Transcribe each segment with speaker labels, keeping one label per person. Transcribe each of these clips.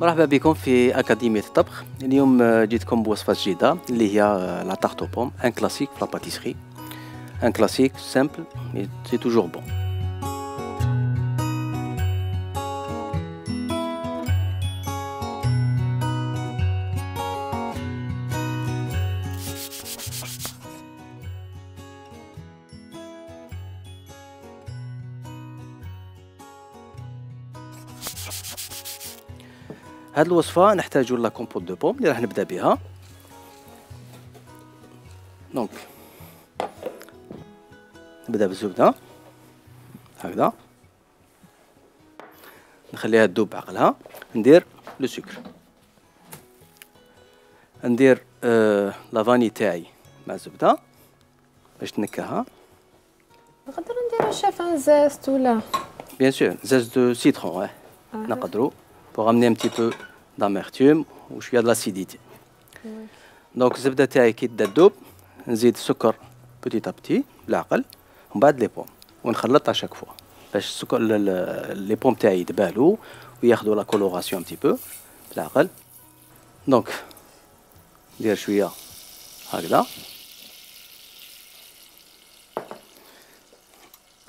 Speaker 1: مرحبا بكم في أكاديمية الطبخ. اليوم جيتكم بوصفة جديدة اللي هي لا تارت بوم، ان كلاسيك في لا باتيسري، ان كلاسيك سامبل مي سي توجور بون. هاد الوصفة نحتاجو لا كومبوت دو بوم اللي راح نبدا بها. دونك نبدا بالزبدة هكذا، نخليها تذوب بعقلها. ندير لو سكر، ندير لا فاني تاعي مع الزبدة باش تنكهها.
Speaker 2: نقدروا نديرو شافان زاست ولا
Speaker 1: بيان سور زاز دو سيترون نقدروا pour amener un petit peu d'amertume وشويه لاسيديتي. دونك الزبده تاعي كي تبدا تذوب نزيد السكر بوتيت ابتي بالعقل، ومن بعد لي بوم ونخلط اشاك فوا باش السكر لي بوم تاعي يتبالوا وياخذوا لا كولوراسيون un petit peu بالعقل. دونك ندير شويه هكذا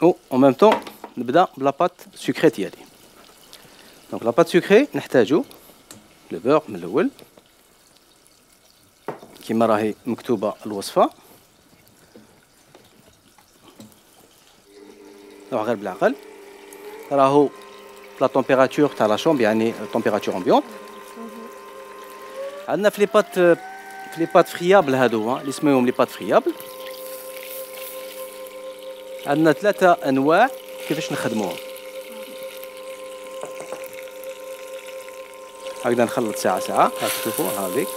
Speaker 1: و en même temps نبدا بلا بات سكري ديالي. دونك لا بات سكري نحتاجو لو بور من الاول كيما راهي مكتوبه الوصفه. نروح غير بالعقل، راهو لا تمبيراتور تاع لا شومب يعني تمبيراتور امبيونت. عندنا في لي بات فريابل هادو اللي اسمهم لي بات فريابل، عندنا ثلاثه انواع كيفاش نخدموهم. هكذا نخلط ساعة ساعة، هاك تشوفوا هاذيك.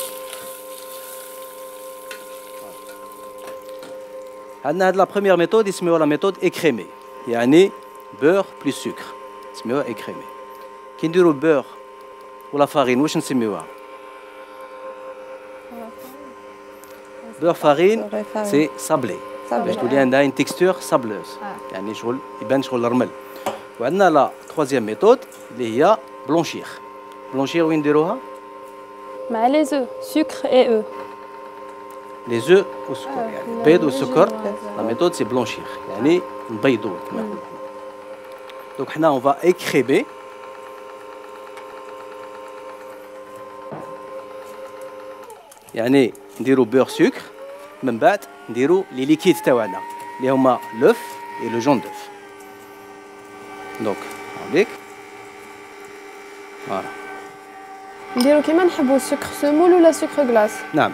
Speaker 1: عندنا هاد لا بروميير ميثود يسميوها لا ميثود اكريمي، يعني بور بلس سكر، نسميوها اكريمي. كي نديرو البور ولا فارين واش نسميوها؟ بور فارين سي صابلي باش تولي عندها اون تيكستور صابلوز، يعني شغل يبان شغل الرمل. وعندنا لا تخوازيام ميثود اللي هي بلونشير. بلونشير وين نديروها؟
Speaker 2: مع لي زو سكر اي او.
Speaker 1: لي زو والسكر يعني البيض والسكر. لا ميثود سي بلونشير يعني نبيضو كما نقولوا. دونك حنا اون فا اكريمي. يعني نديرو بور سكر، من بعد نديرو لي ليكيد تاعنا اللي هما لوف اي لو جون دوف. دونك هاذيك فوالا.
Speaker 2: نديرو كيما نحبو السكر سمول ولا سكر غلاس؟
Speaker 1: نعم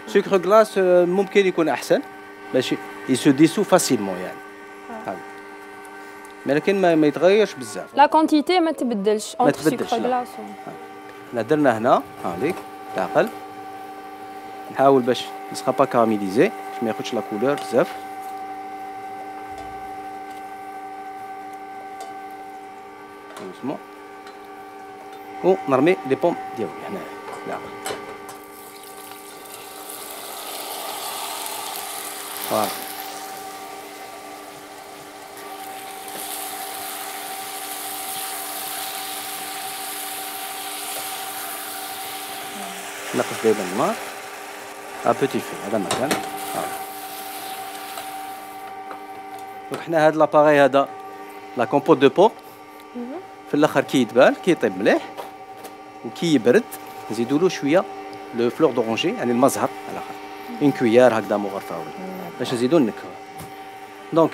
Speaker 1: سكر غلاس ممكن يكون احسن باش يسو ديسو فاسيلمون يعني هذا، لكن ما يتغيرش بزاف.
Speaker 2: لا كونتيتي ما تبدلش
Speaker 1: ما
Speaker 2: اونتر
Speaker 1: تبدلش
Speaker 2: سكر غلاس.
Speaker 1: حنا درنا هنا هاذيك العقل، نحاول باش نسخا با كاراميليزي باش ما ياخذش لا كولور بزاف. دوسمون ونرمي لي بوم ديالي هنا العقل. فوالا نقص دايما الماء ابوتي في هذا المكان. دونك حنا هاد لاباغي هذا لا كومبوت دو بوم في الاخر كي يتبال كي يطيب مليح وكي يبرد نزيدو له شويه لو فلور دورونجي يعني المزهر على الاخر، اون كويار هكذا مغرفه باش نزيدو نكهو. دونك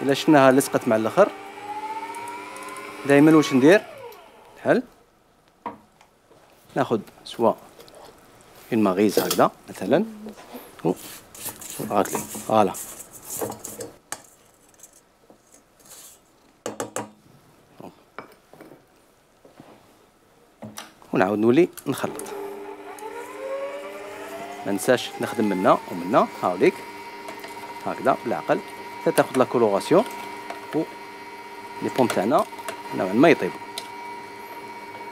Speaker 1: الا شفناها لصقت مع الاخر دائما واش ندير بحال ناخذ سوا اون ماغيز هكذا مثلا غاتلي فوالا ونعاود نولي نخلط. ما ننساش نخدم منا ومنا هاوليك هكذا بالعقل حتى تاخذ لا كولوراسيون و لي بوم تاعنا نوعا ما يطيبوا.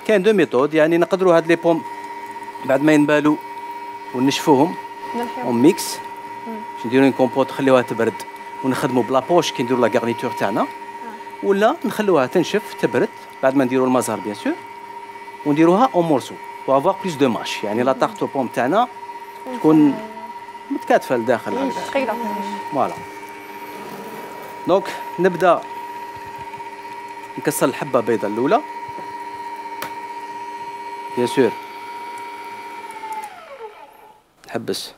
Speaker 1: كاين دو ميثود، يعني نقدروا هاد لي بوم بعد ما ينبالوا ونشفوهم اون ميكس باش نديرو اون كومبوت نخليوها تبرد ونخدموا بلا بوش كي نديرو لا غارنيتور تاعنا، ولا نخلوها تنشف تبرد بعد ما نديرو المزهر بيان سور ونديروها اون مورسو بو افوار بلوس دو ماش، يعني لا تارت بوم تاعنا تكون متكاتفه لداخل هكذا
Speaker 2: ثقيله.
Speaker 1: فوالا. دونك نبدا نكسر الحبه البيضاء الاولى بيان سور، نحبس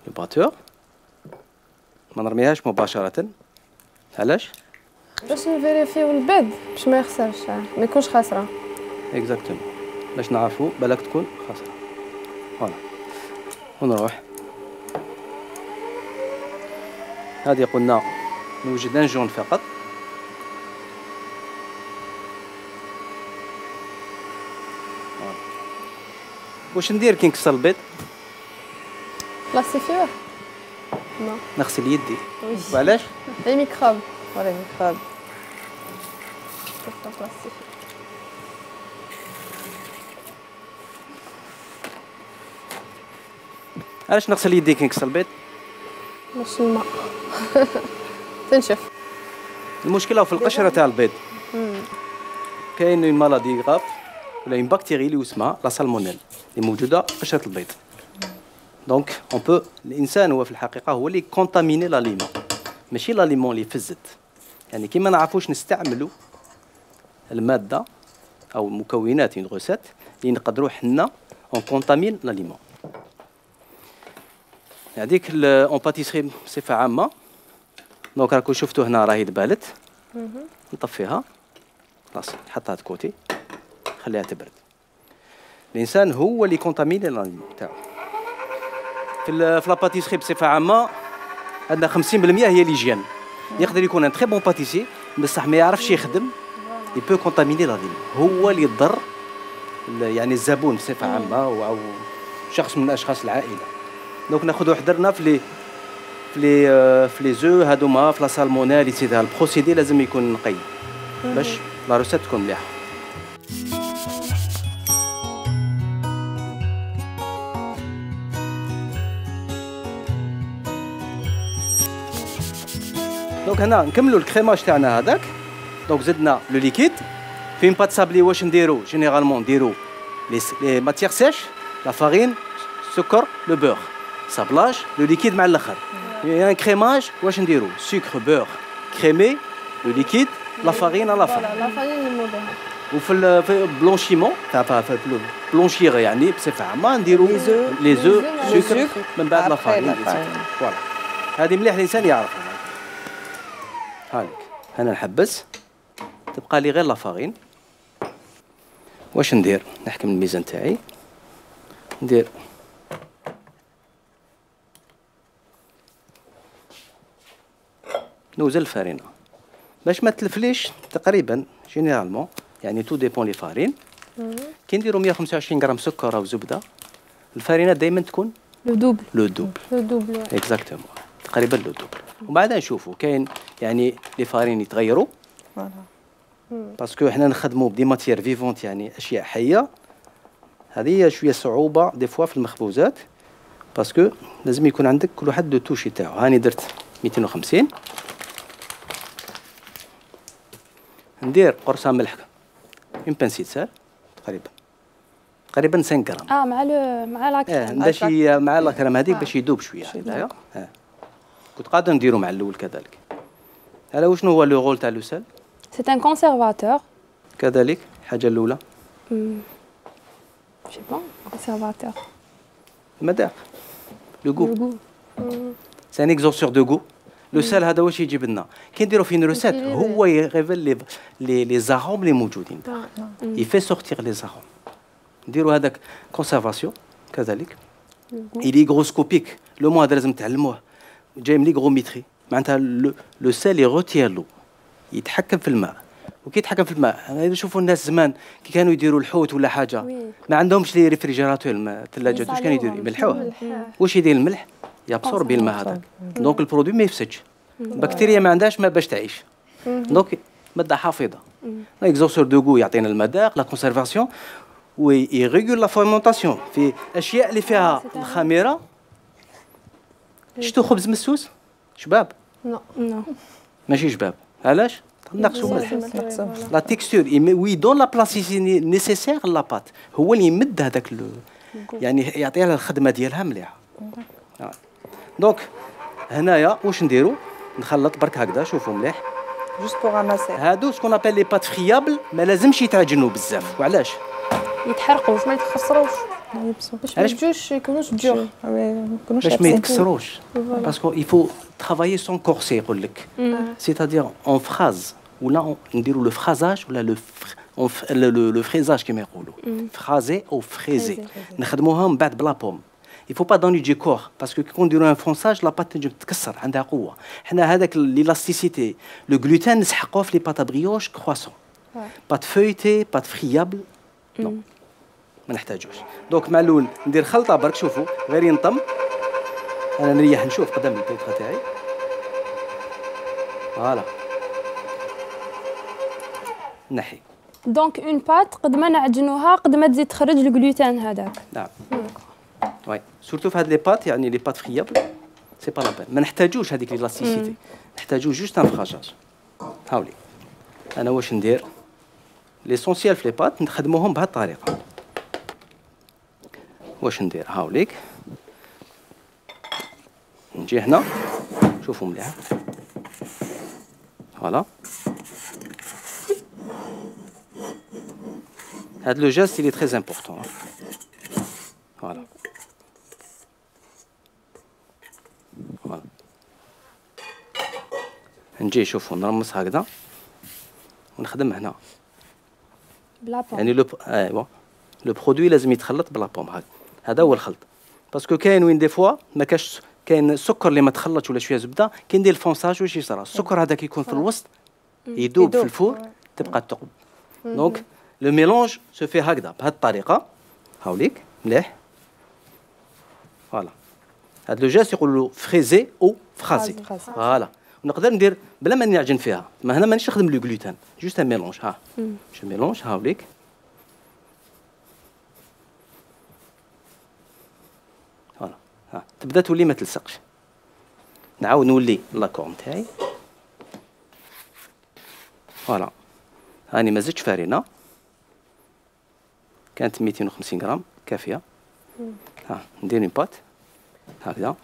Speaker 1: الباتور ما نرميهاش مباشره. علاش؟
Speaker 2: باش نفيريفيو البيض باش ما يخسرش ما يكونش خاسره.
Speaker 1: اكزاكتومون باش نعرفوا بالك تكون خاسره. فوالا ونروح هذه قلنا نوجد ان جون فقط. واش ندير كي نكسر البيض؟
Speaker 2: بلاستيفيور؟ نو
Speaker 1: نغسل يدي. وعلاش؟
Speaker 2: لي ميكروب.
Speaker 3: ولا ميكروب.
Speaker 1: علاش نغسل يدي كي نكسر البيض؟
Speaker 2: باش الماء تنشف.
Speaker 1: المشكله في القشره تاع البيض. كاين اون مالادي غاف ولا اون بكتيري اللي اسمها لا سالمونيل اللي موجوده في قشره البيض. دونك اون بو الانسان هو في الحقيقه هو اللي كونتاميني لاليمون، ماشي لاليمون اللي فزت. يعني كي ما نعرفوش نستعملوا الماده او مكونات اون غوسيت اللي نقدروا حنا اون كونتامين لاليمون. هذيك اون باتيسري بصفه عامه. دونك راكم شفتوا هنا راهي دبالت. نطفيها خلاص نحطها دو كوتي خليها تبرد. الانسان هو اللي كونتاميني لاليمون تاعو. في لا باتيسري بصفه عامه عندنا 50% هي ليجيان. يقدر يكون ان تري بون باتيسي بصح ما يعرفش يخدم يبو كونتاميني لاليمون، هو اللي يضر يعني الزبون بصفه عامه او شخص من اشخاص العائله. دونك ناخذوا حذرنا في لي زو هادوما في لا سالمونيل ايتترا. البروسيدي لازم يكون نقي باش لا روسيت تكون مليحه. دونك هنا نكملوا الكريماج تاعنا هذاك. دونك زدنا لو ليكيد في اون بات سابلي. واش نديرو جينيرالمون نديرو لي ماتيير سيش، لا فارين، السكر، لو بور، صابلاج، لو ليكيد مع الاخر. يعني كريماج واش نديرو سكر بور كريمي لو ليكيد لا فارين لا فارين.
Speaker 2: لا فارين نمودها.
Speaker 1: وفي البلونشيمون تاع في بلونشيغ يعني بصفه عامه نديرو لي زو سكر من بعد لا فارين. فوالا هذه مليح الانسان يعرفها. هانيك انا نحبس تبقى لي غير لا فارين. واش ندير؟ نحكم الميزان تاعي ندير نوزل الفارينه باش ما تلفليش تقريبا جينيرالمون. يعني تو ديبون لي فارين. كي نديرو 125 غرام سكر او زبده الفارينه دائما تكون
Speaker 2: لو دوبل.
Speaker 1: لو دوبل.
Speaker 2: لو دوبل
Speaker 1: اكزاكتومون تقريبا لو دوبل. وبعدها نشوفوا كاين يعني لي فارين يتغيروا باسكو حنا نخدموا بدي ماتيير فيفونت يعني اشياء حيه. هذه شويه صعوبه دي فوا في المخبوزات باسكو لازم يكون عندك كل واحد دو توشي تاعو. هاني درت 250. ندير قرصه ملح اون بانسيت سال تقريبا 5 غرام.
Speaker 2: مع لاكريم.
Speaker 1: باش مع لاكريم هذيك باش يذوب شويه هذايا. كنت قادر نديرو مع الاول كذلك. هذا وشنو هو لو رول تاع لو سال؟
Speaker 2: سي ان كونسيرفاتور.
Speaker 1: كذلك الحاجه الاولى
Speaker 2: جي بون كونسيرفاتور
Speaker 1: المذاق لو غو. سي ان اكزورسور دو غو. لو سال هذا واش يجيب لنا كي نديرو في روسيت هو يريفل لي زاروم اللي موجودين يفي سورتير لي زاروم. نديرو هذاك كونسيرفاسيون كذلك. إلي غروسكوبيك لو مو هذا لازم تعلموه جاي من ليغروميتري. معناتها لو سال يغوتير لو يتحكم في الماء. وكي يتحكم في الماء نشوفوا الناس زمان كي كانوا يديروا الحوت ولا حاجه ما عندهمش لي ريفريجيراتور الثلاجات. واش كانوا يديروا؟ يملحوه. واش يدير الملح؟ يابسوربي الماء هذاك. دونك البرودوي ما يفسدش. البكتيريا ما عندهاش ما باش تعيش. دونك ماده حافظه. اكزورسور دو غو يعطينا المذاق لا كونسيرفاسيون ويريغول لا فورمونطاسيون في اشياء اللي فيها الخميره. شتو خبز مسوس؟ شباب؟
Speaker 2: نو
Speaker 1: ماشي شباب. علاش؟ نقصوا ملح. لا تيكستور وي دون لا بلاستيسيتي نيسيسير لا بات، هو اللي يمد هذاك يعني يعطيها الخدمه ديالها مليحه. دونك هنايا واش نديرو؟ نخلط برك هكذا، شوفوا مليح
Speaker 3: جوست بوغ راماسي.
Speaker 1: هادو سكون ابل لي بات فريابل، ما لازمش يتعجنوا بزاف. وعلاش؟
Speaker 2: يتحرقوش ما يتخسروش باش ما يجوش يكونوش دور،
Speaker 1: باش ما يتكسروش. باسكو يفو ترافايي سون كورسي يقول لك، سيتادير اون فراز ولا نديروا لو فرازاج ولا لو فريزاج كما يقولوا، فرازي او فريزي نخدموها من بعد بلا بوم. il faut pas donner du corps parce que كون نديروا ان فرونساج لا بات تنجم تتكسر، عندها قوه. حنا هذاك ليلاستيسيتي لو غلوتين نسحقوه في لي بات بريوش كرواسون، بات فويتي بات فريابل نو ما نحتاجوش. دونك مع الاول ندير خلطه برك، شوفوا غير ينطم، انا نريح نشوف قدام البيتره تاعي. فوالا نحي.
Speaker 4: دونك اون بات قد ما نعجنوها قد ما تزيد تخرج الجلوتين هذاك.
Speaker 1: نعم وي سورتو في هاد لي بات، يعني لي بات فريابل سي با لا بين، ما نحتاجوش هذيك ليلاستيسيتي، نحتاجو جوست ان فراجاج. هاولي انا واش ندير؟ ليسونسيال في لي بات نخدموهم بهاد الطريقه. واش ندير؟ هاوليك نجي هنا، شوفوا مليح، فوالا هاد لو جيست il est très important. فوالا فوالا نجي شوفوا نرمس هكذا ونخدم هنا
Speaker 4: بلا بوم.
Speaker 1: يعني ايوا لو برودوي لازم يتخلط بلا بوم. هذا هو الخلط. باسكو كاين وين دي فوا ما كاش، كاين السكر اللي ما تخلطش ولا شويه زبده، كي ندير الفونساج واش يصرى؟ السكر هذاك يكون في الوسط يذوب في الفور، تبقى تقب. دونك لو ميلونج سو في هكذا بهذه الطريقه. هاوليك مليح. فوالا هاد لو جاست يقولوا له فريزي او فرازي. فوالا ونقدر ندير بلا ما نعجن فيها، ما هنا مانيش نخدم لو غلوتين، جوست ان ميلونج. ها جو ميلونج. هاوليك فوالا ها تبدا تولي ما تلصقش. نعاود نولي لاكور تاعي. فوالا هاني ما زدتش فارينه، كانت 250 غرام كافيه. ها ندير اون بات هكذا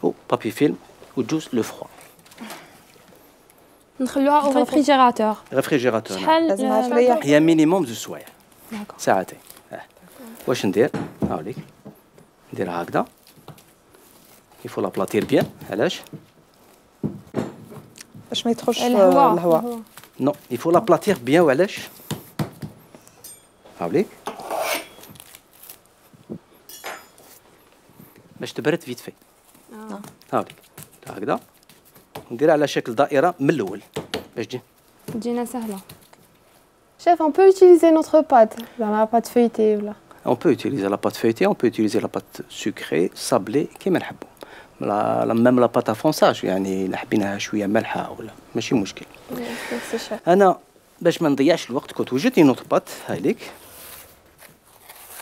Speaker 1: و بابي فيلم وجوز لو فروا،
Speaker 4: نخلوها او ريفريجيراتور.
Speaker 1: ريفريجيراتور
Speaker 4: شحال؟
Speaker 1: هي مينيموم 2 سوايع، ساعتين. واش ندير؟ هاوليك نديرها هكذا. يفو لا بلاطير بيان. علاش؟
Speaker 3: باش ما يدخلش
Speaker 4: الهواء.
Speaker 1: نو يفو لا بلاطير بيان. وعلاش؟ هاوليك باش تبرد فيت في. هاوليك هكذا نديرها على شكل دائره من الاول باش
Speaker 4: تجينا سهله.
Speaker 2: Chef, on peut utiliser notre pâte dans la pâte feuilletée là.
Speaker 1: On peut utiliser la pâte feuilletée, on peut utiliser la pâte sucrée, sablée كيما نحبوا. ميم لا بات افونساج يعني الا حبيناها شويه مالحه ولا ماشي مشكل. انا باش ما نضيعش الوقت كنت وجدت نوت بات هايليك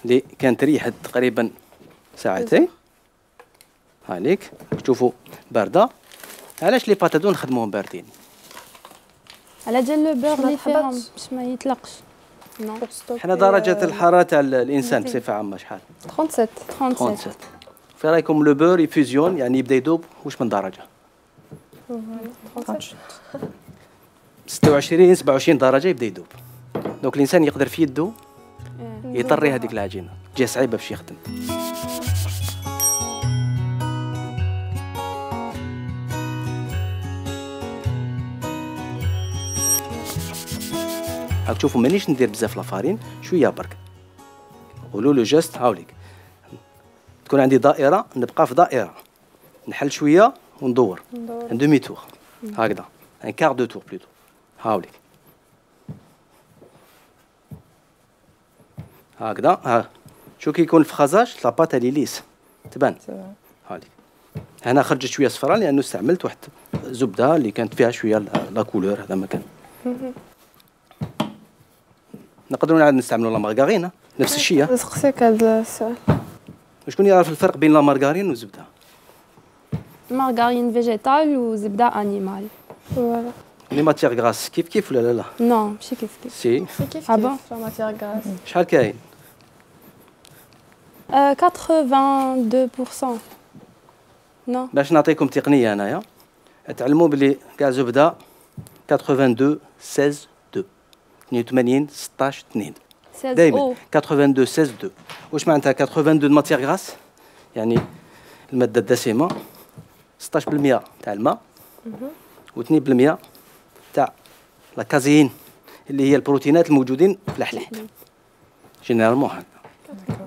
Speaker 1: اللي كانت ريحت تقريبا ساعتين. هايليك تشوفوا بارده. علاش لي بات هادو نخدموهم باردين؟
Speaker 4: على جال لو بور اللي فيهم باش ما يطلقش. نو
Speaker 1: حنا درجه الحراره تاع الانسان بصفه عامه شحال؟
Speaker 2: 37.
Speaker 1: في رايكم لو بور يفوزيون يعني يبدا يذوب واش من درجه؟ 26 27 درجه يبدا يذوب. دونك الانسان يقدر في يده يطري هذيك العجينه، تجي صعيبه باش يخدم. راك تشوفوا مانيش ندير بزاف لافارين، شويه برك. قولوا لو جيست. هاوليك تكون عندي دائره، نبقى في دائره، نحل شويه وندور ان دومي تور هكذا، ان كار دو تور بلوتو. هاوليك هكذا. ها شو كي يكون الفخازاج لاباط اللي ليس تبان. هاوليك هنا خرجت شويه صفراء لانه استعملت واحد زبده اللي كانت فيها شويه لا كولور. هذا ما كان. نقدروا نعاود نستعملوا لا مارغارين نفس الشيء.
Speaker 2: نسقسيك هذا السؤال،
Speaker 1: شكون يعرف الفرق بين لا مارغارين والزبده؟
Speaker 4: مارغارين فيجيتال وزبده انيمال.
Speaker 2: فوالا.
Speaker 1: لي ماتيغ غراس كيف كيف ولا لا؟
Speaker 4: نو ماشي كيف كيف.
Speaker 1: سي.
Speaker 2: سي كيف
Speaker 4: Ah bon
Speaker 2: كيف لا ماتيغ غراس.
Speaker 1: شحال كاين؟
Speaker 4: 82%. نو.
Speaker 1: باش نعطيكم تقنيه انايا تعلموا بلي كاع زبده 82 16 2 82 16 2 دائما 82 16 2. واش معناتها 82 ماتيغ غراس؟ يعني الماده الدسمه 16% تاع الماء و2% تاع لا كازين اللي هي البروتينات الموجودين في الحليب. جينيرالمون هكا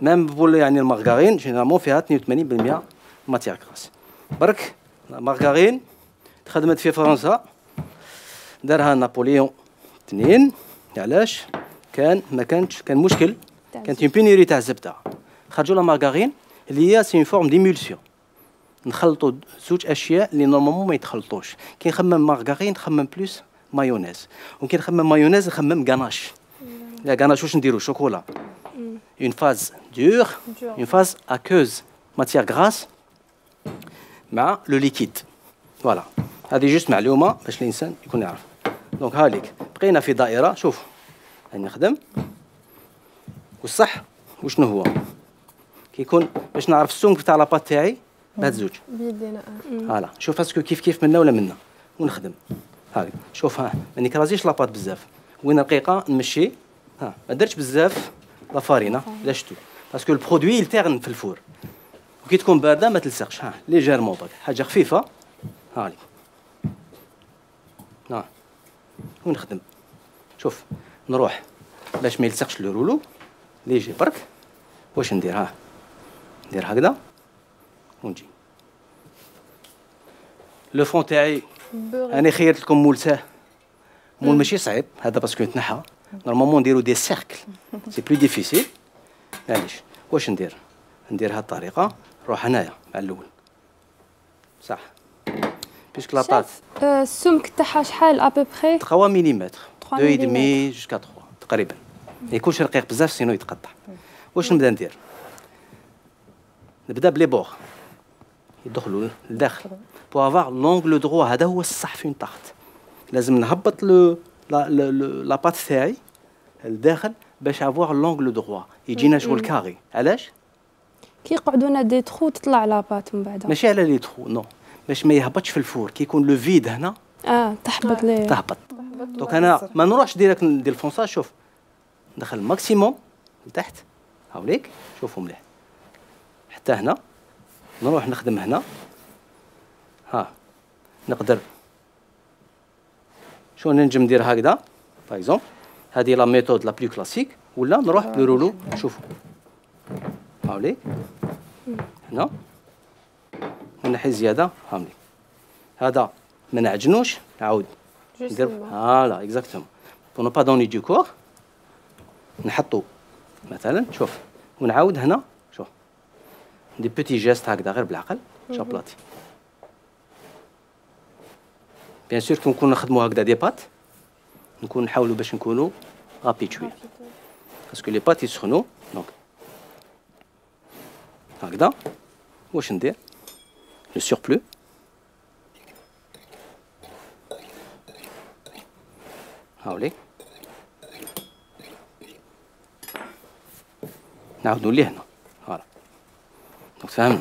Speaker 1: ميم بول يعني المارغارين جينيرالمون فيها 82% ماتيغ غراس. برك المارغارين تخدمت في فرنسا دارها نابليون 2. علاش؟ كان مشكل، كانت اون بينيري تاع الزبده، خرجوا لا مارغارين اللي هي سي اون فورم ديمولسيون. نخلطوا زوج اشياء اللي نورمالمون ما يتخلطوش. كي نخمم مارغارين نخمم بلوس مايونيز، وكي نخمم مايونيز نخمم غاناش. لا غاناش واش نديرو؟ شوكولا. اون فاز دور اون فاز اكوز ماتيغ غراس مع لو ليكيد. فوالا هذه جوست معلومه باش الانسان يكون يعرف. دونك هاليك بقينا في دائره. شوف هاني نخدم والصح وشنو هو كيكون باش نعرف السمك تاع لاباط تاعي بهاد الزوج
Speaker 2: بيدينا.
Speaker 1: فوالا. شوف اسكو كيف منا ولا منا ونخدم هاك. شوف ها ما نكرازيش لاباط بزاف، وين رقيقه نمشي. ها ما درتش بزاف لا فارينه لا شتو باسكو البرودوي يلتغن في الفور، وكي تكون بارده ما تلصقش. ها ليجيرمون برك حاجه خفيفه هالي. ها ونخدم. شوف نروح باش ما يلصقش لو رولو ليجي برك. واش ندير؟ ها ندير هكذا ونجي. لو فون تاعي انا خيرت لكم مول ساه، مول ماشي صعيب هذا باسكو يتنحى. نورمالمون نديرو دي سيركل سي بلو ديفيسيل. معليش واش ندير؟ ندير هاد الطريقه. نروح هنايا مع الاول صح بيسك لاباط
Speaker 4: السمك تاعها شحال ابوبخي؟
Speaker 1: 3 ملم 2.5
Speaker 4: ملم.
Speaker 1: جوسكا 3 تقريبا. ما يكونش رقيق بزاف سينو يتقطع. واش نبدا ندير؟ نبدا بلي بور يدخلوا لداخل بو افوار لونغل دروا. هذا هو الصح فين طاحت. لازم نهبط لاباط تاعي لداخل باش افوار لونغل دروا يجينا شغل كاري. علاش؟
Speaker 4: كي يقعدونا دي تخو تطلع لاباط من بعد.
Speaker 1: ماشي على لي تخو نو، باش ما يهبطش في الفور. كي يكون لو فيد هنا
Speaker 4: تحبط ليه.
Speaker 1: تهبط. دونك انا ما نروحش ديريكت ندير الفونساج. شوف ندخل ماكسيموم لتحت هاوليك. شوفوا مليح حتى هنا. نروح نخدم هنا. ها نقدر شو ننجم ندير هكذا باغ اكزومبل. هذه لا ميثود لا بلو كلاسيك. ولا نروح برولو. شوفوا هاوليك هنا ونحي زياده هاوليك. هذا ما نعجنوش نعاود ندير فوالا اكزاكتومون بور نو با دوني دو كور. نحطو مثلا شوف ونعاود هنا. شوف دي بوتي جيست هكذا غير بالعقل شابلاطي. بيان سور كي نكون نخدمو هكذا دي بات نكون نحاولوا باش نكونوا رابيد شويه باسكو لي بات يسخنوا. دونك هكذا. واش ندير؟ لو سوربلو هاوليك نعاودو ليه هنا. فوالا دونك فهمنا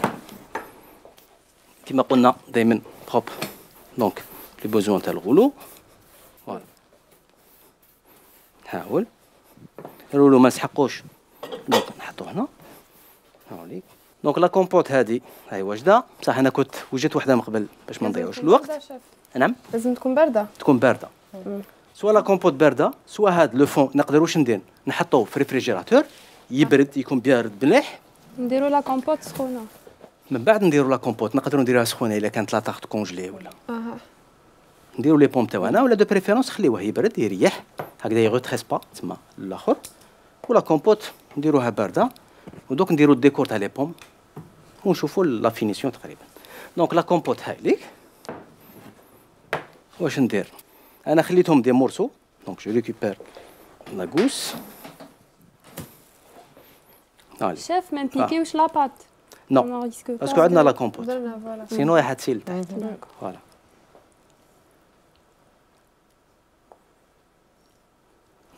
Speaker 1: كيما قلنا دائما بروب. دونك لي بوزوان تاع الغلو. فوالا نحاول الغلو ما نسحقوش. دونك نحطو هنا هاوليك. دونك لا كومبوت هذه هاي واجده بصح انا كنت وجدت وحده من قبل باش ما نضيعوش الوقت.
Speaker 2: نعم لازم تكون بارده.
Speaker 1: تكون بارده. سوا لا كومبوت بارده سوا هاد لو فون نقدر واش ندير؟ نحطوه في ريفريجيراتور يبرد يكون بارد مليح.
Speaker 4: نديرو لا كومبوت سخونه
Speaker 1: من بعد نديرو لا كومبوت. نقدروا نديروها سخونه الا كانت لا طاغت كونجلي ولا نديرو لي بوم تاعنا ولا دو بريفيرونس خليوه يبرد يريح هكذا يغوتريس با تما الاخر. ولا كومبوت نديروها بارده ودوك نديرو الديكور تاع لي بوم ونشوفوا لا فينيسيون تقريبا. دونك لا كومبوت هاي ليك. واش ندير؟ انا خليتهم دي مورسو. دونك جو ريكوبير لا غوس.
Speaker 4: شاف ما نبيكيوش لاباط.
Speaker 1: نو باسكو عندنا لا كومبوت
Speaker 2: درنا فوالا.
Speaker 1: سينو راح تسيل تحت. فوالا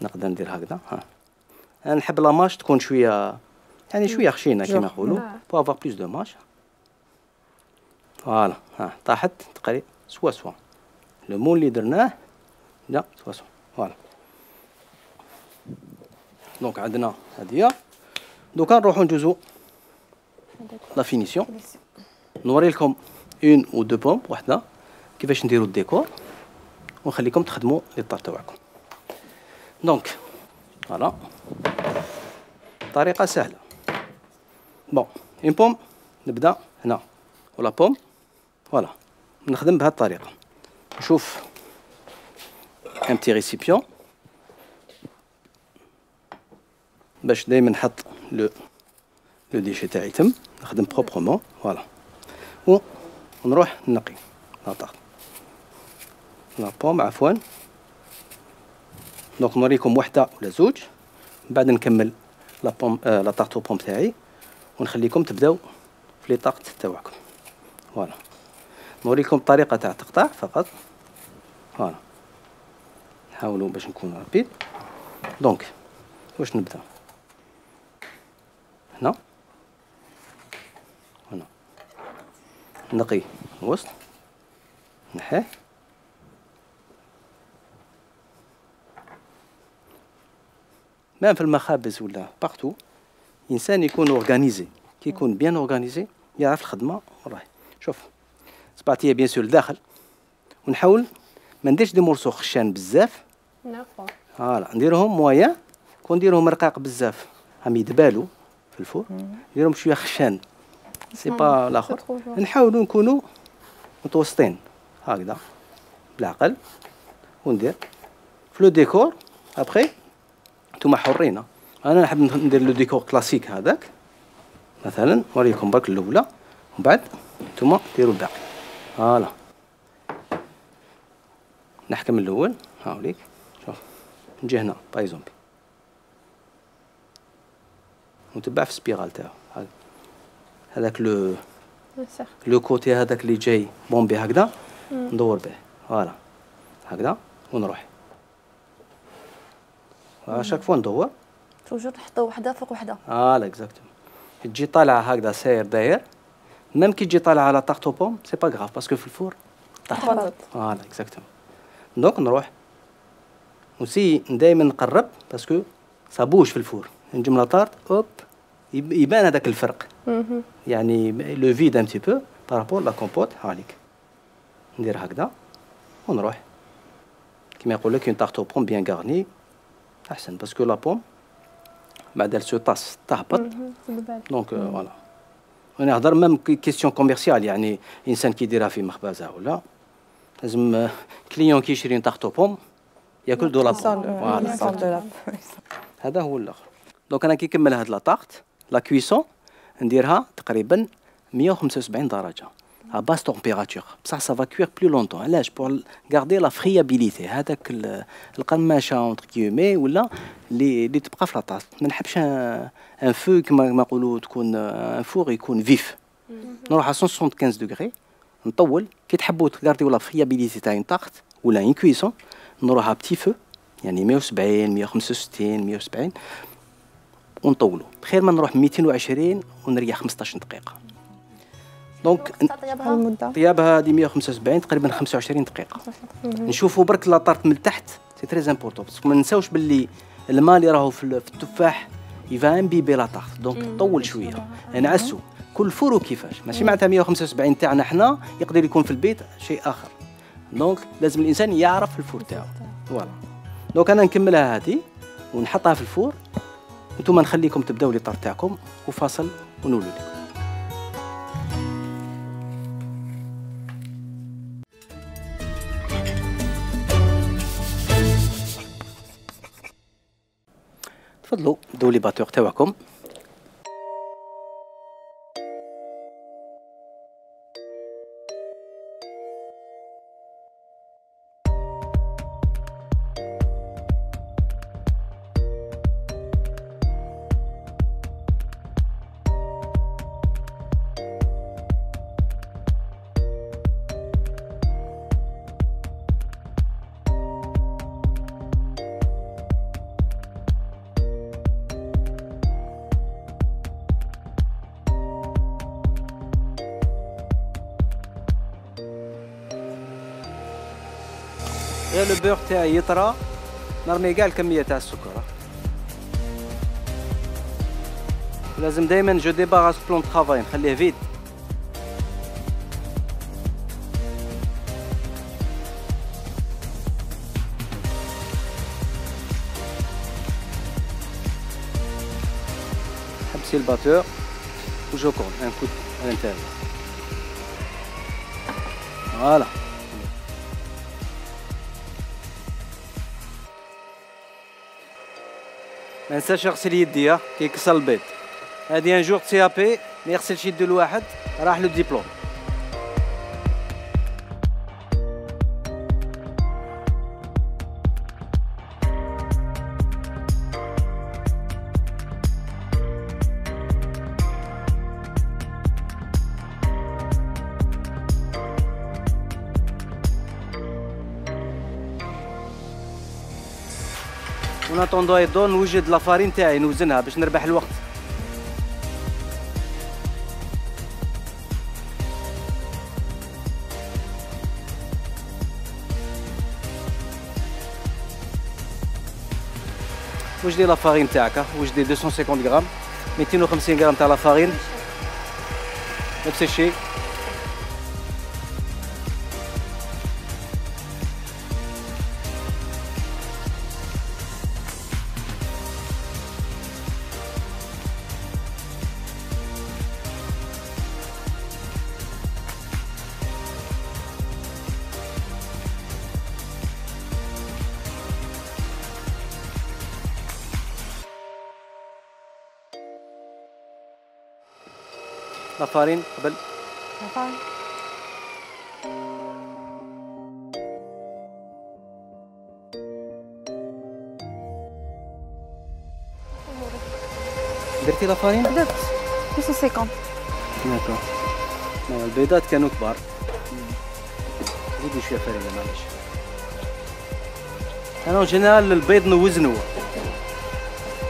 Speaker 1: نقدر ندير هكذا. ها انا نحب لا ماش تكون شويه يعني شويه خشينه كما نقولوا بو افوار بلوس دو ماش. فوالا ها طاحت تقريبا سوا لو مول اللي درناه لا سوا فوالا. دونك عندنا هذه. دوكا نروحو ندوزو لا فينيسيون. نوري لكم اون او دو بومب وحده كيفاش نديرو الديكور ونخليكم تخدموا لي طار تاعكم. دونك فوالا طريقه سهله. بون اون بوم نبدا هنا ولا بوم فوالا نخدم بهذه الطريقه. نشوف ان بتي ريسيبيون باش دائما نحط لو ديشي تاعي تم نخدم بروبرمون فوالا ونروح نقي لا طارت لا بوم عفوا. دونك نوريكم وحده ولا زوج من بعد نكمل لا بوم لا طارت بوم تاعي ونخليكم تبداو في لي طارت تاعكم. فوالا نوريكم الطريقه تاع التقطاع فقط. فوالا نحاولوا باش نكون رابيد. دونك واش نبدا هنا نقي الوسط نحيه ما في المخابز ولا بارتو. انسان يكون اورغانيزي كي يكون بيان اورغانيزي يعرف الخدمه والله. شوف صبعتي بيان سور لداخل ونحاول ما نديرش دي مورسو خشان بزاف. فوالا نديرهم مويا كون نديرهم رقاق بزاف هم يدبالوا في الفور نديرهم شويه خشان سي با الاخر. نحاولوا نكونوا متوسطين هكذا بالعقل وندير في لو ديكور. ابخي نتوما حرين. انا نحب ندير لو ديكور كلاسيك هذاك مثلا نوريكم برك الاولى ومن بعد نتوما ديروا الباقي. فوالا نحكم الاول هاوليك. شوف نجي هنا باي زومبي ونتبع في السبيرال تاعو هذاك لو كوتي هذاك اللي جاي بومبي هكذا ندور به. فوالا هكذا ونروح شاك فوا ندور
Speaker 3: توجور نحطو وحده فوق وحده.
Speaker 1: فوالا اكزاكتومون. تجي طالعه هكذا ساير داير ميم كي تجي طالعه على طاقتو بوم سي با غراف باسكو في الفور
Speaker 3: تهبط.
Speaker 1: فوالا اكزاكتومون. دونك نروح وسي دائما نقرب باسكو صابوش في الفور نجم لا طارت اوب يبان هذاك الفرق يعني لو فيد ان تي بو بارابور لا كومبوت. هاليك ندير هكذا ونروح كيما يقول لك اون طارت بوم بيان غارني احسن باسكو لا بوم بعد سو طاس تهبط. دونك فوالا انا نهضر ميم كيستيون كوميرسيال يعني انسان كيديرها في مخبزه ولا لازم كليون كيشري طارت بوم ياكل دو لا بوم. هذا هو الاخر. دونك انا كي نكمل هاد لا طارت لا كويسون نديرها تقريبا 175 درجه à basse température بصح سافا كوير بلو لونطون. علاش؟ بور غاردي لا فريابيليتي هذاك القماشه اونتر كيومي ولا اللي تبقى في لاطاس. ما نحبش ان فو كما نقولوا تكون ان فور يكون فيف. نروح على 175 دوغري نطول. كي تحبوا تغارديو لا فريابيليتي تاع طاقت ولا ان كويسون نروح على بتي فو يعني 170 165 170 ونطولوا. خير ما نروح 220 ونريح 15 دقيقه. دونك طيابها هذه 175 تقريبا 25 دقيقه. نشوفوا برك لا طارت من تحت سي تري امبورطون باسكو ما ننساوش باللي الماء اللي راهو في التفاح يفا امبيبي لا طارت. دونك طول شويه نعسوا كل فور كيفاش ماشي معناتها 175 تاعنا حنا يقدر يكون في البيت شيء اخر. دونك لازم الانسان يعرف الفور تاعو. فوالا دونك انا نكملها هذه ونحطها في الفور وانتم نخليكم تبداو لي طارت تاعكم وفاصل ونولوا لكم. تفضلوا بداو لي باتور تاعكم. غير لو بور تاعي يطرى نرمي كاع الكميه تاع السكر. لازم دائما جو ديباغاس بلون طرافاي نخليه فيد. حبسي الباتور وجو كون ان كود على الانتيريور. فوالا. ما ننساش يغسل يديه كي يكسر البيض. هادي ان جور سي ا بي ما يغسلش يدو الواحد راح لو ديبلوم. وناتوندو يدور نوجد لافارين تاعي نوزنها باش نربح الوقت. وجدي لافارين تاعك، وجدي 250 غرام، 250 غرام تاع لافارين نفس الشيء. لافارين قبل
Speaker 3: لافارين
Speaker 1: درتي لافارين؟
Speaker 3: درت 250.
Speaker 1: داكور. البيضات كانوا كبار. زيدي شويه فرينه معليش. انا جينيرال البيض نوزنو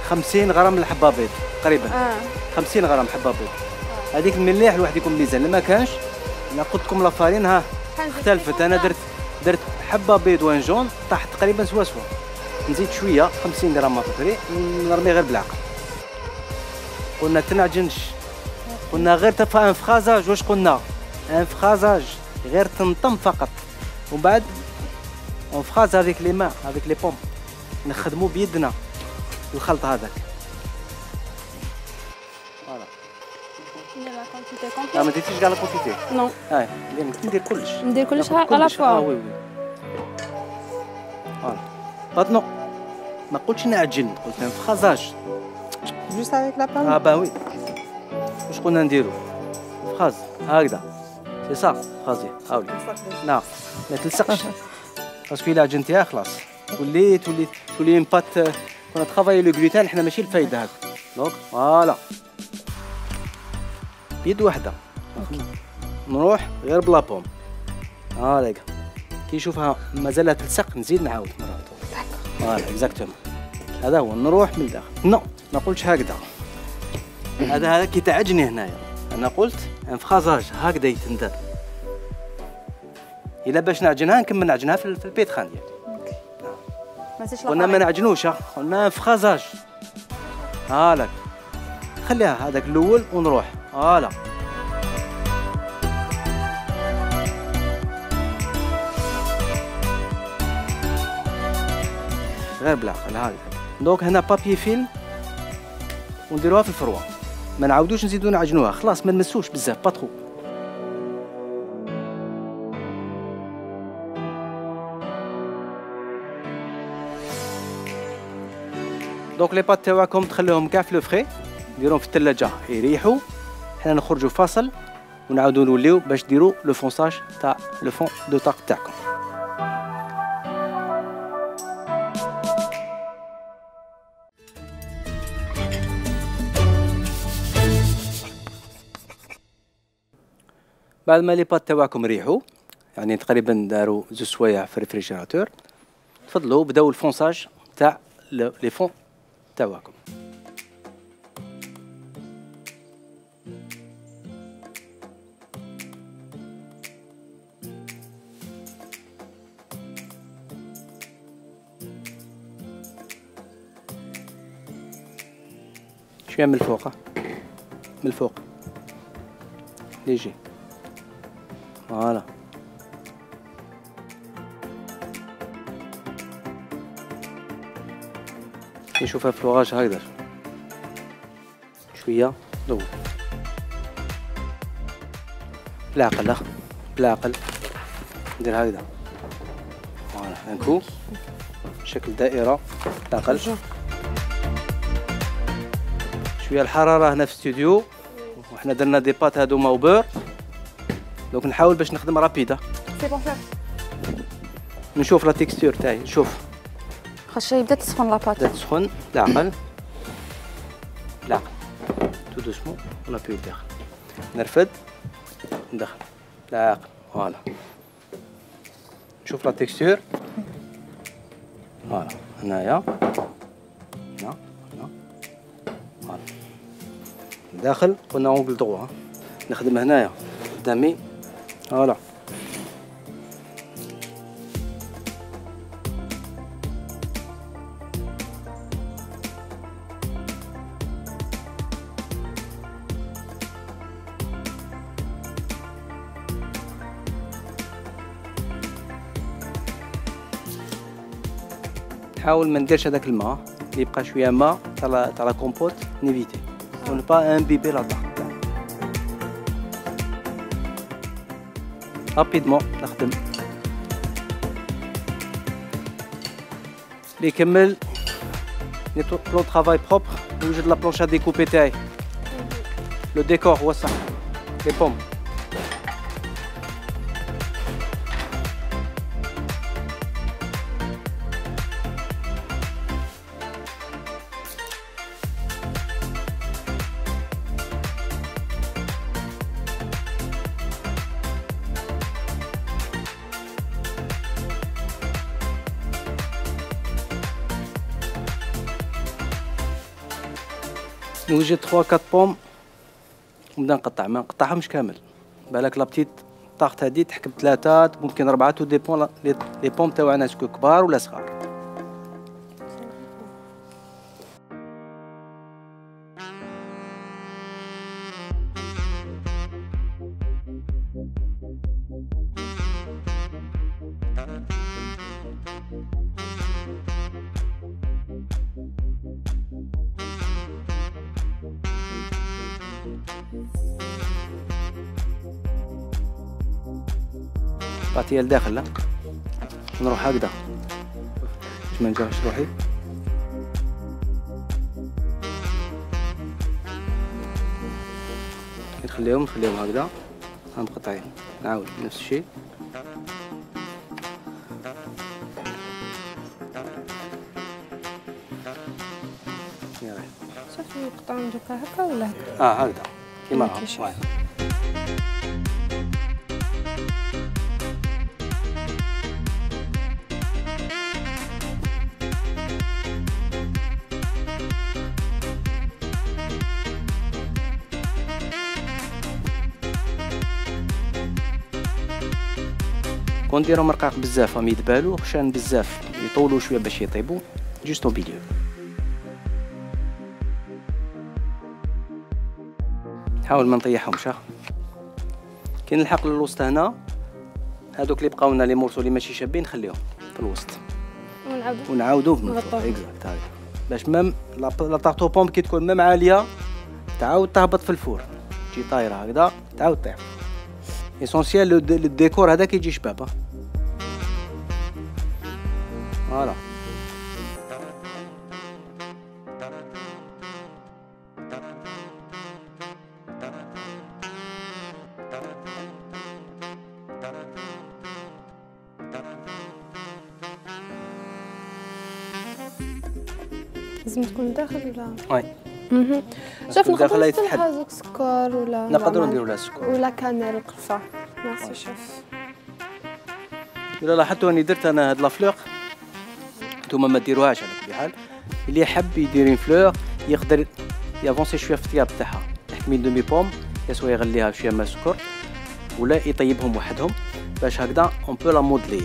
Speaker 1: 50 غرام الحبه بيض تقريبا. 50 غرام حبه بيض. هذيك المليح الواحد يكون ميزان. لما كانش انا قلت لكم لافارين ها اختلفت. انا درت حبه بيض وان جون طاح تقريبا سوا نزيد شويه 50 غرام مابري نرمي غير بالعقل. قلنا تنعجنش، قلنا غير تفا انفخازاج. واش قلنا؟ انفخازاج غير تنطم فقط. ومن بعد انفخاز هذيك لي ما هذيك لي بوم نخدمو بيدنا الخلط هذاك. فوالا. ما ديتيش كاع لا كونتيتي؟
Speaker 4: نو.
Speaker 1: ندير كلش.
Speaker 4: ندير كلش على فوا.
Speaker 1: وي وي. فوالا. باتنو ما قلتش نعجن، قلت انفخازاج.
Speaker 3: جوست افيك لا بان.
Speaker 1: با وي. واش قلنا نديرو؟ فخاز هكذا سي صا فخازي هاولي. نعم ما تلصقش باسكو الا عجنتيها خلاص تولي اون بات. كنا تخافاي لو غلوتين حنا ماشي الفايده هذا. دونك فوالا بيد وحده نروح غير بلا بوم. هاكا كي نشوفها مازالها تلصق نزيد نعاود مره. فوالا اكزاكتومون هذا هو. نروح من الداخل. نو ما قلتش هكذا. هذا كي تعجني هنايا. انا قلت انفخازاج هكذا يتندر. الا باش نعجنها نكمل نعجنها في البيت خان ديالي. قلنا ما نعجنوش، قلنا انفخازاج. هالاك خليها هذاك الاول ونروح. هالا غير بالعقل. هاي دونك هنا بابي فيلم ونديروها في الفروه. ما نعاودوش نزيدو نعجنوها خلاص ما نمسوش بزاف باتخو. دونك لي بات تاعكم تخليهم كاع في لو فري، ديروهم في الثلاجه يريحوا. حنا نخرجوا فاصل ونعاودوا نوليو باش ديروا لو فونساج تاع لو فون دو طاق تاعكم. بعد ما لي بات تاعكم ريحوا يعني تقريبا داروا 2 سوايع في الريفريجيراتور، تفضلوا بداو الفونساج تاع لي فون تاعكم. شويه من الفوق، من الفوق ليجي. فوالا نشوفها في الفراغ هكذا شويه ضوء بالعقل، بالعقل ندير هكذا. فوالا هاكو شكل دائره بالعقل. شويه الحراره هنا في الاستوديو، وحنا درنا دي بات هادوما وبور، دونك نحاول باش نخدم رابيده.
Speaker 3: سي بون فير.
Speaker 1: نشوف لا تيكستور تاعي، نشوف
Speaker 3: خاص يبدا تسخن لاباط.
Speaker 1: بدات تسخن بالعقل، بالعقل تو دوسمون ولا بيو داخل، نرفد ندخل بالعقل. فوالا نشوف لا تيكستور. فوالا هنايا هنا هنا. فوالا داخل قلنا اونغل دروا، نخدم هنايا قدامي. فوالا نحاول ما نديرش هذاك الماء اللي يبقى شويه ماء تاع لا كومبوت، نيفيتي ون با امبيبي لا طاق. رابيدمون نخدم اللي يكمل نيتو بلون طرافاي بروبر. نوجد لا بلونشا ديكوبي تاعي، لو ديكور هو صح، لي بوم. نوجد 3 4 بوم ونبدا نقطع، ما نقطعهمش كامل. بالك لا بتيت طاقت هادي تحكم 3 ممكن 4، تو ديبون لي بوم تاعنا اسكو كبار ولا صغار. بعطيها لداخل، لا نروح هكذا باش ما نجرحش روحي. نخليهم هكذا مقطعين. نعاود نفس الشيء.
Speaker 2: صافي نقطعهم دوكا هكا ولا
Speaker 1: هكا؟ هكذا كيما هكا. كون نديرهم رقاق بزاف راهم يدبالو، خشان بزاف يطولوا شويه باش يطيبوا. جوست بيليو نحاول ما نطيحهمش. كي نلحق للوسط هنا، هادوك اللي بقاو لنا لي مورسو اللي ماشي شابين نخليهم في الوسط ونعاودو من الفوق اكزاكت هكا، باش ميم لا طارطو بوم كي تكون ميم عاليه تعاود تهبط في الفور، تجي طايره هكذا تعاود طيح. اسونسيال الديكور هذاك يجي شباب. فوالا
Speaker 2: لازم تكون داخل ولا؟
Speaker 1: وي.
Speaker 2: شوف نقدروا نحطوا لها سكر ولا
Speaker 1: نقدروا نديروا لها سكر
Speaker 2: ولا كانيل وقرفه. ميرسي شوف.
Speaker 1: إلا لاحظتوا راني درت أنا هاد لافلور، نتوما ما ديروهاش على كل حال. اللي يحب يدير فلور يقدر يافونسي شويه في الطياب تاعها، يحكمي دومي بوم يسوا يغليها بشويه ماء سكر ولا يطيبهم وحدهم باش هكذا اون بو لا مودلي،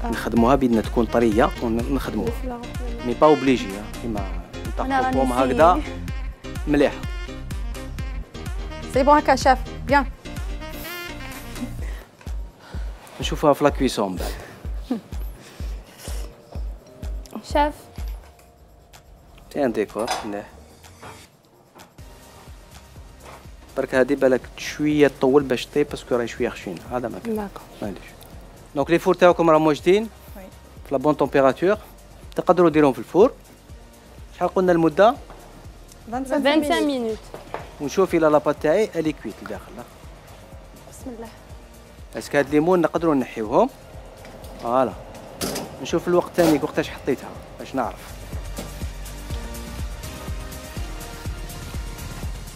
Speaker 1: يعني نخدموها بيدنا تكون طريه ونخدموها مي با اوبليجي كيما نطقوا بوم هكذا مليحه.
Speaker 3: سي بون هكا شاف بيان.
Speaker 1: نشوفوها في لا كويسون بعد.
Speaker 4: شاف
Speaker 1: سي ان ديكور مليح. برك هادي بالك شويه تطول باش طيب باسكو راهي شويه خشينه، هذا ما كان.
Speaker 2: داكور.
Speaker 1: معليش. دونك لي فور تاعكم راهم واجدين في لا بون تمبيراتور، تقدروا ديروهم في الفور. شحال قلنا المده؟
Speaker 4: 25 مينوت.
Speaker 1: ونشوف الى لاباط تاعي الي كويت لداخل.
Speaker 3: بسم الله.
Speaker 1: اسك هاد الليمون نقدروا نحيوهم. فوالا. نشوف الوقت ثاني وقتاش حطيتها باش نعرف.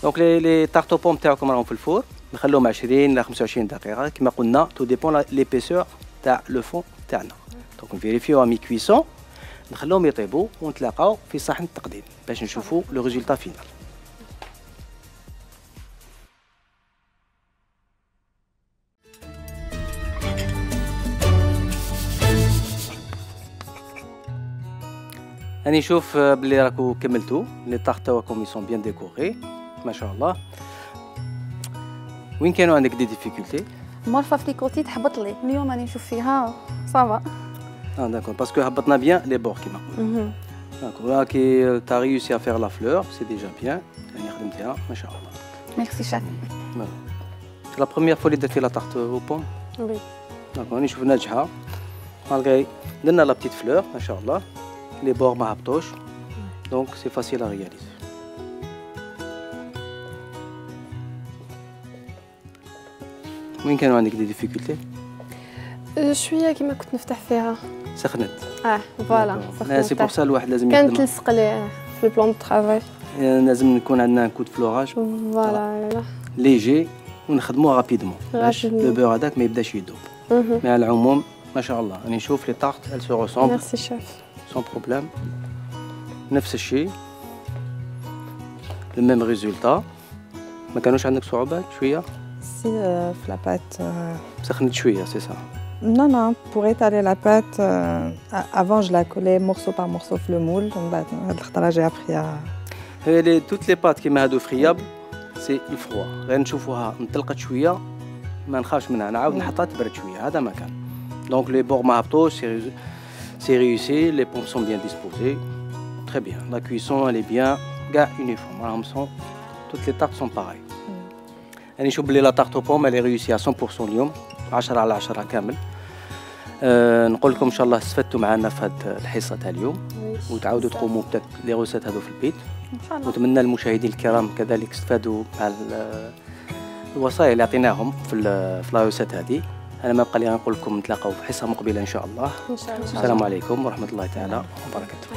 Speaker 1: دونك لي طارطو بوم تاعكم راهم في الفور، نخلوهم 20 ل 25 دقيقه كما قلنا، تو ديبون ليبيسور تاع لو فون تاعنا. دونك نفيريفيو مي كويسون، نخلوهم يطيبوا ونتلاقاو في صحن التقديم باش نشوفوا لو ريزولتا فينال. راني نشوف بلي راكو كملتو لي طارت تاعكم يسون بيان ديكوري ما شاء الله. وين كانوا عندك دي ديفيكولتي؟
Speaker 3: مرفه في ليكوتي تحبط لي، اليوم راني نشوف فيها صافا.
Speaker 1: داكور باسكو هبطنا بيان لي بور كيما قلنا. داكور راكي تا ريوسي ا فير لا فلور سي ديجا بيان، يعني خدمتيها ما شاء الله.
Speaker 3: ميرسي شاف.
Speaker 1: سي لا بروميير فوا اللي درتي لا طارت او بوم؟
Speaker 2: وي.
Speaker 1: داكور راني نشوف ناجحه مالغري درنا لا بتيت فلور ما شاء الله، لي بور ما هبطوش دونك سي فاسيل ا رياليزي. وين كانوا عندك دي ديفيكولتي؟
Speaker 2: شويه كيما كنت نفتح فيها.
Speaker 1: سخنت.
Speaker 2: فوالا
Speaker 1: سي بور سا الواحد لازم
Speaker 2: كانت
Speaker 1: يخدم.
Speaker 2: تلصق لي في البلان دو طرافاي.
Speaker 1: لازم نكون عندنا كود فلوراج
Speaker 2: فوالا
Speaker 1: ليجي ونخدموه رابيدمون باش
Speaker 2: رابيدمون.
Speaker 1: لو بور هذاك ما يبداش يذوب. مي على العموم ما شاء الله راني نشوف لي طارت ال سو ريسومبل
Speaker 2: ميرسي شاف.
Speaker 1: سون بروبليم، نفس الشيء لو ميم ريزولتا. ما كانوش عندك صعوبات شويه؟
Speaker 5: Si, la pâte.
Speaker 1: سخنت شويه سي سا.
Speaker 5: Non, non, pour étaler la pâte, avant je la collais morceau par morceau في le moule. Donc, j'ai appris à.
Speaker 1: هي توت لي بات كيما هادو فريابل سي الفروا، غير نشوفوها انطلقت شويه ما نخافش منها، نعاود نحطها تبرد شويه، هذا ما كان. دونك لي بور ما هبطوش سي ريوسي، لي بوم سون بيان ديسبوزي تري بيان، لا كويسون الي بيان كاع يونيفورم، راهم سون توت لي طارت سون باغي. راني نشوف بلي لا طارت بوم الي ريوسي 100% اليوم 10 على 10 كامل. نقول لكم ان شاء الله استفدتوا معنا في هذه الحصه تاع اليوم وتعاودوا تقوموا لي غوسات هذو في البيت
Speaker 3: ان شاء الله.
Speaker 1: نتمنى المشاهدين الكرام كذلك استفادوا مع الوصايا اللي عطيناهم في لا غوسات هذه. انا ما بقى لي نقول لكم نتلاقاو في حصه مقبله ان شاء الله.
Speaker 2: ان شاء الله.
Speaker 1: السلام عليكم ورحمه الله تعالى وبركاته.